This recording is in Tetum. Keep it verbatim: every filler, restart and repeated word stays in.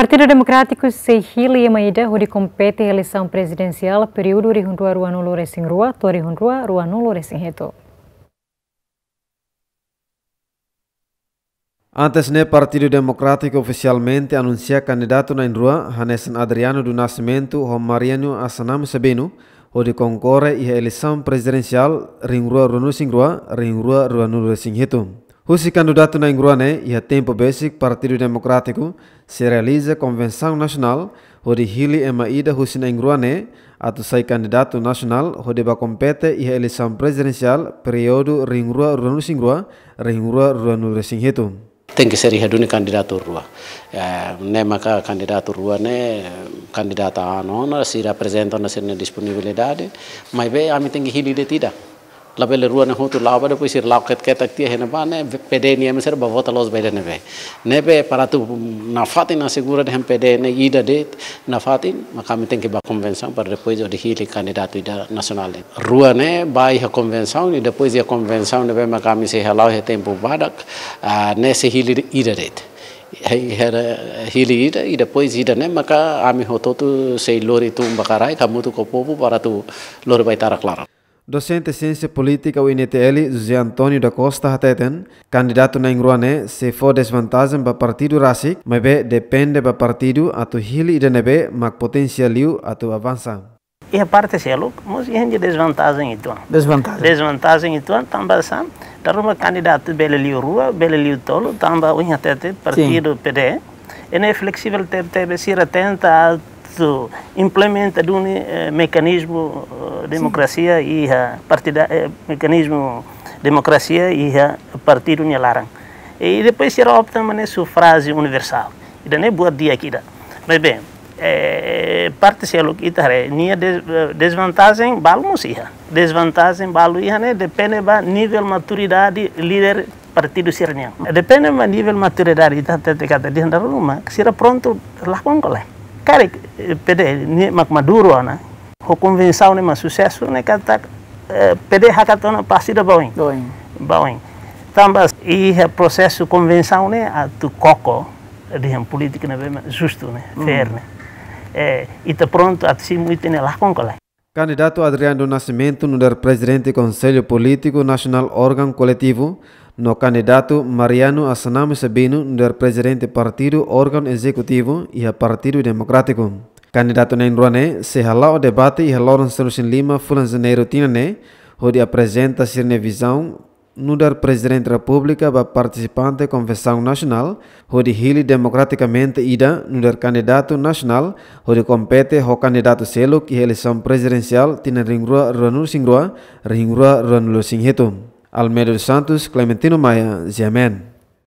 Partidu Demokrátiku sei hili ema ida hodi kompete eleisaun prezidensiál períodu rihun rua ruanulu resin rua to'o rihun rua ruanulu resin hitu. Antes ne'e, Partidu Demokrátiku ofisialmente anunsia kandidatu na'in-rua, hanesan Adriano do Nascimento ho Mariano Assanami Sabino, hodi konkorre iha eleisaun prezidensiál rihun rua ruanulu resin rua, rihun rua ruanulu resin hitu. Husi kandidatu na'in-rua ne'e, iha tempu besik Partidu Demokrátiku sei realiza konvensaun nasionál hodi hili ema ida husi na'in-rua ne'e atu sai kandidatu nasionál hodi bá kompete iha eleisaun prezidensiál períodu rihun rua ruanulu resin rua, rihun rua ruanulu resin hitu. Tenke ser iha duni kandidatu rua. Eh, ne'e maka kandidatu rua ne'e, kandidata anu ona, sira aprezenta ona sira-nia disponibilidade, maibé ami tenke hili de'it ida. Labele rua ne'e hotu la'o ba, depois sira la'o ket-, ketak tiha iha ne'ebá ne'e, P D nia ema sira bá vota loos ba ida ne'ebé. Ne'ebé para atu nafatin asegura dehan P D ne'e ida de'it nafatin, maka ami tenke bá konvensaun para depois hodi hili kandidatu ida nasionál. Rua ne'e bá iha konvensaun, i depois iha konvensaun ne'ebé maka ami sei hala'o iha tempu badak, ah, ne'e sei hili ida de'it. Hei, hera, hili ida, i depois ida ne'e maka ami hotu-hotu sei lori tun ba kraik, hamutuk ho povu para atu lori ba ita-nia klaran. Dosente Siénsia Polítika U N T L, José António da Costa hateten, kandidatu na'in-rua ne'e sei fó dezvantajen ba partidu rasik, maibé depende ba partidu atu hili ida ne'ebé mak potensiál liu atu avansa. Iha parte seluk, mós iha dezvantajen uitoan. Dezvantajen. Dezvantajen uitoan, tanba sá, dala ruma kandidatu bele liu rua, bele liu tolu, tanba ohin hatete partidu P D, ida-ne'e fleksível tebetebes, sira tenta atu implementa duni, eh, mekanizmu, eh, demokrasia iha partida, eh, mekanizmu demokrasia iha partidu nia laran. I depois sira opta mak ne'e sufrájiu universál. Ida-ne'e buat di'ak ida. Maibé, eh, parte seluk ita haree, nia de-, eh, dezvantajen balu mós iha. Dezvantajen balu iha ne'e depende ba nivel maturidade líder partidu sira-nian. Depende ba nivel maturidade, ita hatete katak dehan dala ruma sira prontu lakon ka lae. Karik, eh, P D ne'e mak maduru ona, ho konvensaun ne'e mak susesu ne'e katak, eh, P D hakat ona pasti ida ba oin. Ba oin. Ba oin. Tanba iha prosesu konvensaun ne'e atu koko dehan polítika ne'ebé mak justu ne'e, fair ne'e. Eh, ita prontu atu simu ita-nia lakon ka lae. Kandidatu Adriano do Nascimento nu'udar Prezidente Konsellu Polítiku Nasionál Órgaun Koletivu, no kandidatu Mariano Assanami Sabino nu'udar Prezidente Partidu Órgaun Ezekutivu iha Partidu Demokrátiku. Kandidatu na'in-rua ne'e sei hala'o debate iha loron sanulu-resin-lima fulan Janeiru tinan ne'e, hodi aprezenta sira-nia vizaun nu'udar Prezidente Repúblika ba partisipante konvensaun nasionál, hodi hili demokratikamente ida nu'udar kandidatu nasionál, hodi kompete ho kandidatu seluk iha eleisaun prezidensiál tinan rihun rua ruanulu-resin-rua, rihun rua ruanulu-resin-hitu. Almeida dos Santos, Clementino Maia, G M N.